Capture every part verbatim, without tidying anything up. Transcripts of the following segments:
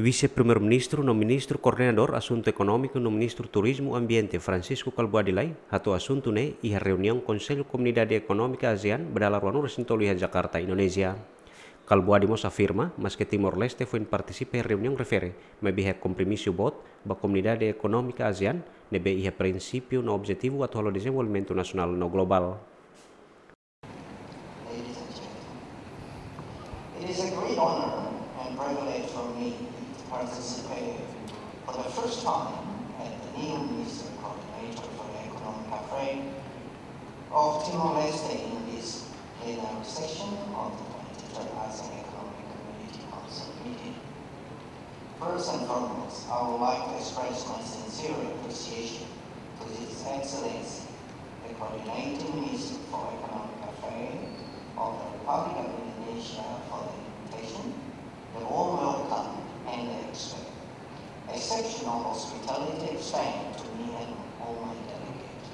Vise-Primeiru-Ministru no Ministru Koordenadór Asuntu Ekonómiku no Ministru Turizmu Ambiente, Francisco Kalbuadi Lay, hato'o asuntu ne'e iha reuniaun Konsellu Komunidade Ekonómika ASEAN ba dala ruanulu-resin-tolu iha Jakarta, Indonézia. Kalbuadi mós afirma, maske Timor-Leste foin partisipa iha reuniaun refere, maibé iha kompromisu boot ba Komunidade Ekonómika ASEAN, ne'ebé iha prinsípiu no objetivu atu halo dezenvolvimentu nasionál no globál. Ladies and gentlemen, it is a great honor and privilege for me to participate for the first time as the new Minister Coordinator for Economic Affairs of Timor-Leste in this plenary session of the twenty-third ASEAN Economic Community Council meeting. First and foremost, I would like to express my sincere appreciation to His Excellency, the Coordinating Minister for Economic Affairs of the Republic of Indonesia, for the invitation, the warm welcome, and the expe-, exceptional hospitality extended to me and all my delegates.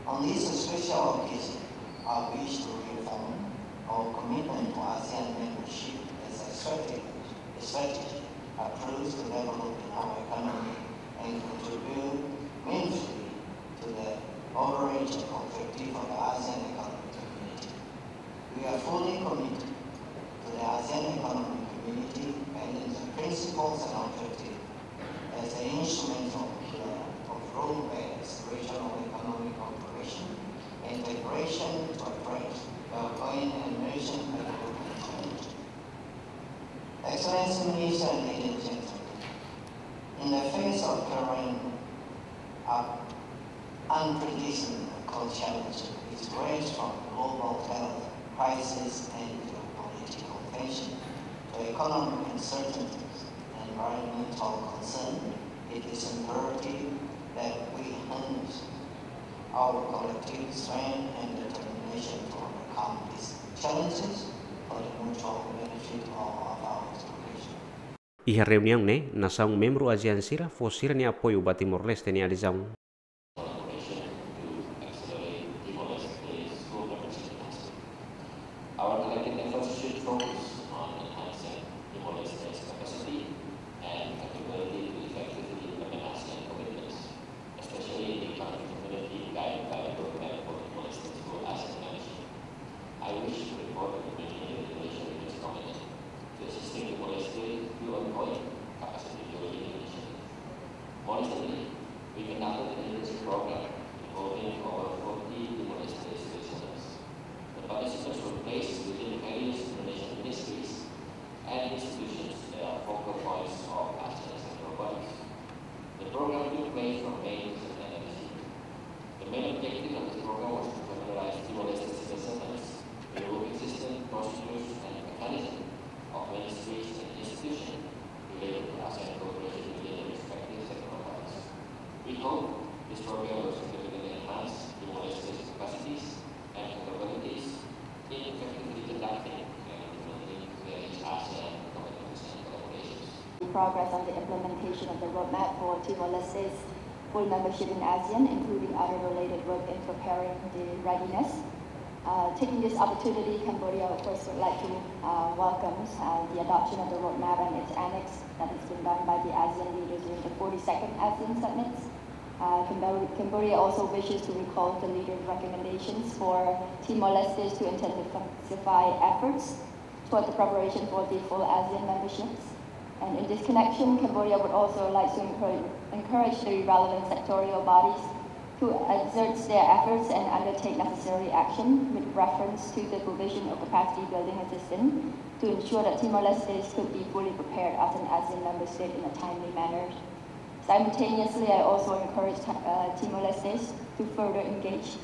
On this special occasion, I wish to reaffirm our commitment to ASEAN membership as a strategic, a strategic approach to developing our economy and contribute meaningfully to the overarching objective of the ASEAN Economic Community. We are fully committed to the ASEAN Economic Community and its principles and objectives as an instrumental pillar of rule-based regional economic cooperation and integration to address the ongoing emerging development challenges. Excellency Minister, ladies and gentlemen, in the face of current up-, unpredictable challenges which range from global health crisis and geopolitical tension to economic uncertainties and environmental concern, it is imperative that we harness our collective strength and determination to overcome these challenges for the mutual benefit of our generation. Iha reuniaun ne'e, nasaun membru ASEAN sira fó sira-nia apoiu ba Timor-Leste nia adezaun. Collaboration to accelerate Timor-Leste's full membership enhancement. Our collective efforts should focus on enhancing Timor-Leste's capacity and capability to effectively implement ASEAN commitments, especially in the economic community guided by the roadmap for Timor-Leste's full ASEAN membership. I wish to report that the Ministerial Delegation remains committed to assisting Timor-Leste through ongoing capacity building initiatives. More recently, we conducted a literature program involving over forty Timor-Leste citizens. The participants were placed within various Indonesian ministries and institutions that are focal points of ASEAN central bodies. The program took place from May to September this year. The main objective of this program was to familiarize Timor-Leste citizens with the working system, procedures, and mechanism of ministries and institutions related to ASEAN cooperation within the respective sectoral bodies. We hope this program will significantly enhance Timor-Leste's capacities and capabilities in effectively conducting and implementing various ASEAN commitments and collaborations. Progress on the implementation of the roadmap for Timor-Leste's full membership in ASEAN, including other related work in preparing the readiness. Uh, taking this opportunity, Cambodia, of course, would like to, uh, welcome, uh, the adoption of the roadmap and its annex that has been done by the ASEAN leaders during the forty-second ASEAN Summit. Uh, Cambodia, Cambodia also wishes to recall the leaders' recommendations for Timor-Leste to intensify efforts toward the preparation for the full ASEAN memberships. And in this connection, Cambodia would also like to encourage, encourage the relevant sectorial bodies to exert their efforts and undertake necessary action with reference to the provision of capacity building assistance to ensure that Timor-Leste could be fully prepared as an ASEAN member state in a timely manner. Simultaneously, I also encourage, uh, Timor-Leste to further engage,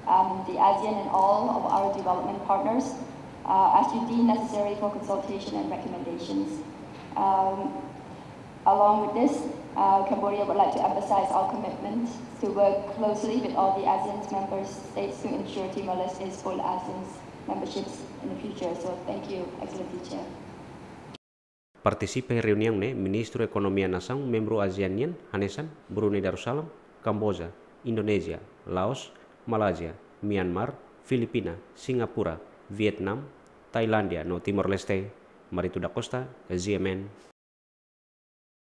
um, the ASEAN and all of our development partners, uh, as you deem necessary for consultation and recommendations. Um, along with this, uh, Cambodia would like to emphasize our commitment to work closely with all the ASEAN's member states to ensure Timor-Leste's full ASEAN's memberships in the future. So, thank you, Excellency Chair. Partisipa iha reuniaun ne'e Ministru Ekonomia nasaun membru ASEAN nian hanesan Brunei Darussalam, Kamboja, Indonézia, Laos, Malázia, Myanmar, Filipina, Singapura, Vietnam, Tailándia no Timor-Leste. Marito da Costa, G M N,